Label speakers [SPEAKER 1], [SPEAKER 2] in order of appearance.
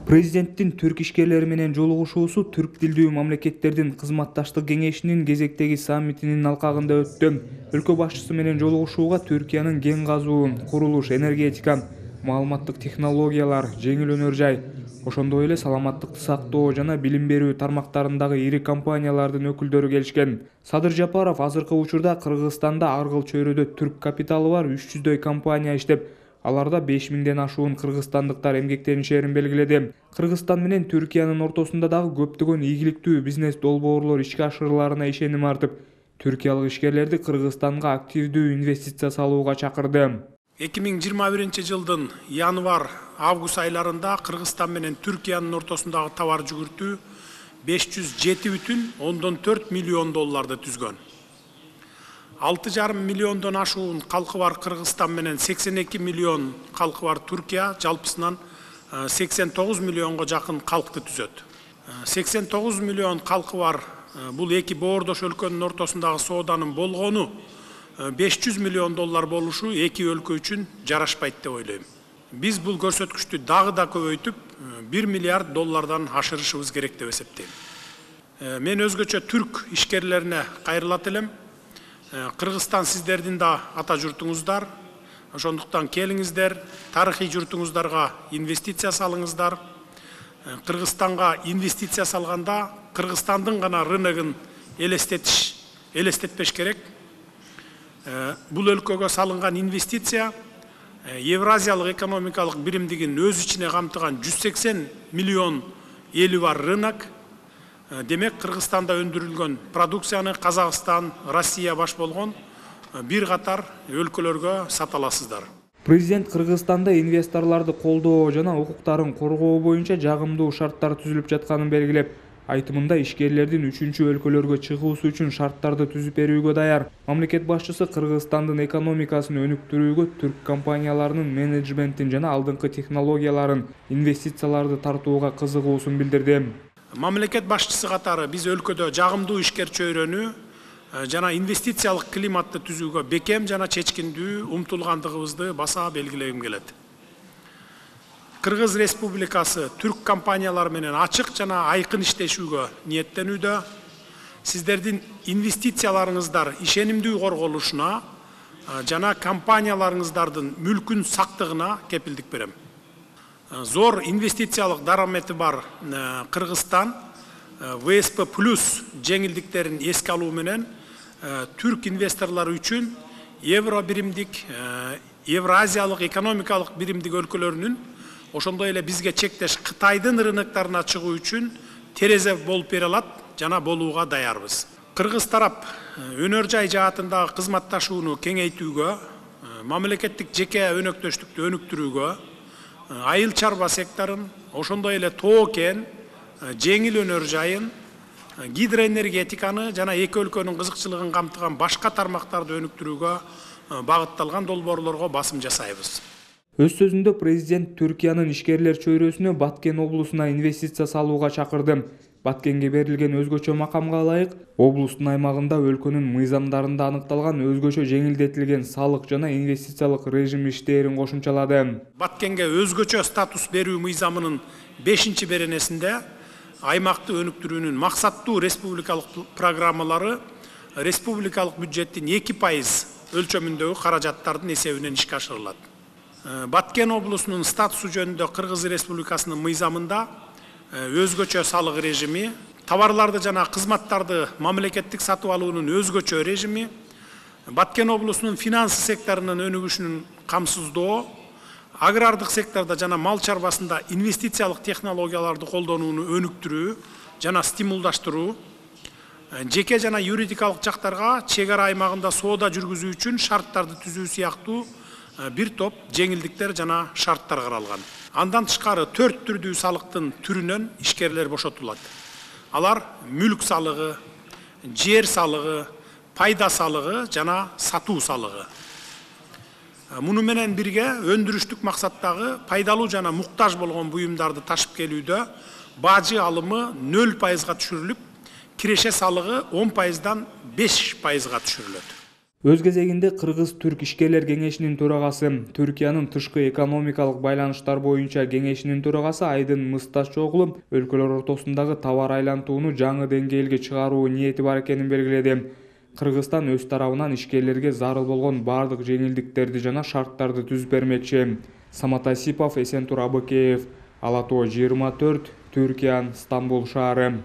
[SPEAKER 1] Президенттин түрк ишкерлери менен жолугушуусу түрк тилдүү мамлекеттердин кызматташтык кеңешинин кезектеги саммитинин алкагында өттү. Өлкө башчысы менен жолугушууга Түркиянын кен казуу, курулуш, энергетика, маалыматтык технологиялар, жеңил өнөр жай, ошондой эле саламаттыкты сактоо жана билим берүү тармактарындагы ири компаниялардын өкүлдөрү келишкен. Садыр Жапаров азыркы учурда Кыргызстанда аргыл чөйрөдө түрк капиталы бар 300дөй компания иштеп, аларда 5000ден ашуун кыргызстандыктар эмгектенишерин белгиледи. Кыргызстан менен Түркиянын ортосунда дагы көптөгөн ийгиликтүү бизнес долбоорлор ишке ашырыларына ишеним артып, түркиялык ишкерлерди Кыргызстанга активдүү инвестиция салууга чакырды.
[SPEAKER 2] 2021 жылдын январь-август айларында Кыргызстан менен Түркиянын ортосундагы товар жүгүртүү 507,4 миллион долларды түзгөн. 6,5 миллиондон ашуун калкы бар Кыргызстан менен 82 миллион калкы бар Түркия жалпысынан 89 миллионго жакын калкты түзөт. 89 миллион калкы бар бул эки боордош өлкөнүн ортосундагы сооданын болгону 500 миллион доллар болушу эки өлкө үчүн жарашпайт деп ойлойм. Биз бул көрсөткүчтү дагы да көбөйтүп 1 миллиард доллардан ашырышыбыз керек деп эсептейм. Мен өзгөчө түрк ишкерлерине кайрылат элем. Кыргызстан сиздердин да ата журтуңуздар, ошондуктан келиңиздер, тарыхый журтуңуздарга инвестиция салыңыздар. Кыргызстанга инвестиция салганда Кыргызстандын гана рыногун элестетпеш керек. Бул өлкөгө салынган инвестиция Евразиялык экономикалык биримдигин өз ичине камтыган 180 миллион эли бар рынок. Демек, Кыргызстанда өндүрүлгөн продукцияны Казакстан, Россия баш болгон бир катар өлкөлөргө сата аласыздар.
[SPEAKER 1] Президент Кыргызстанда инвесторлорду колдоо жана укуктарын коргоо боюнча жагымдуу шарттар түзүлүп жатканын белгилеп, айтымында ишкерлердин үчүнчү өлкөлөргө чыгуусу үчүн шарттарды түзүп берүүгө даяр. Мамлекет башчысы Кыргызстандын экономикасын өнүктүрүүгө түрк компанияларынын менеджментин жана алдыңкы технологияларын, инвестицияларды тартууга кызыгуусун билдирди.
[SPEAKER 2] Мамлекет башчысы катары биз өлкөдө жагымдуу ишкер чөйрөнү жана инвестициялык климатты түзүүгө бекем жана чечкиндүү умтулгандыгыбызды баса белгилегим келет. Кыргыз Республикасы түрк компаниялары менен ачык жана айкын иштешүүгө ниеттенүүдө. Сиздердин инвестицияларыңыздар ишенимдүү корголушуна жана компанияларыңыздардын мүлкүн сактыгына кепилдик берем. Зор инвестициялык дарамети бар Кыргызстан ВСП плюс жеңилдиктерин эске алуу менен түрк инвесторлору үчүн евро биримдик, Евразиялык экономикалык биримдик өлкөлөрүнүн, ошондой эле бизге чектеш Кытайдын рыноктарына чыгуу үчүн терезе болуп бере алат жана болууга даярбыз. Кыргыз тарап өнөр жай жаатындагы кызматташууну кеңейтүүгө, мамлекеттик жеке өнөктөштүктү өнүктүрүүгө, айыл чарба секторун, ошондой эле тоо кен, жеңил өнөр жайын, гидроэнергетиканы жана эки өлкөнүн кызыкчылыгын камтыган башка тармактарды өнүктүрүүгө багытталган долбоорлорго басым жасайбыз.
[SPEAKER 1] Өз сөзүндө президент Түркиянын ишкерлер чөйрөсүнө Баткен облусуна инвестиция салууга чакырды. Баткенге берилген өзгөчө макамга ылайык, облустун аймагында өлкөнүн мыйзамдарында аныкталган өзгөчө жеңилдетилген салык жана инвестициялык режим иштээрин кошумчалады.
[SPEAKER 2] Баткенге өзгөчө статус берүү мыйзамынын 5-беренесинде аймакты өнүктүрүүнүн максаттуу республикалык программалары республикалык бюджеттин 2% өлчөмүндөгү каражаттардын эсебинен ишке ашырылат. Баткен облусунун статусу жөнүндө Кыргыз Республикасынын мыйзамында өзгөчө салык режими, товарларды жана кызматтарды мамлекеттик сатып алуунун өзгөчө режими, Баткен облусунун финанс секторунун өнүгүшүнүн камсыздоо, агрардык сектордо жана мал чарбасында инвестициялык технологияларды колдонууну өнүктүрүү жана стимулдаштыруу, жеке жана юридикалык жактарга чек ара аймагында соода жүргүзүү үчүн шарттарды түзүү сыяктуу бир топ жеңилдиктер жана шарттар каралган. Андан тышкары 4 түрдүү салыктын түрүнөн ишкерлер бошотулат. Алар мүлк салыгы, жер салыгы, пайда салыгы жана сатуу салыгы. Муну менен бирге өндүрүштүк максаттагы пайдалуу жана муктаж болгон буюмдарды ташып келүүдө бажы алымы 0%га түшүрүлүп, киреше салыгы 10%дан 5%га түшүрүлөт.
[SPEAKER 1] Өз кезегинде Кыргыз-Түрк ишкерлер кеңешинин төрагасы, Түркиянын тышкы экономикалык байланыштар боюнча кеңешинин төрагасы Айдын Мысташоглу өлкөлөр ортосундагы товар айлантууну жаңы деңгээлге чыгаруу ниети бар экенин белгиледи. Кыргызстан өз тарабынан ишкерлерге зарыл болгон бардык жеңилдиктерди жана шарттарды түзүп бермекчи. Самат Асипов, Эсентур Абыкеев, Ала Тоо 24, Түркия, Стамбул шаары.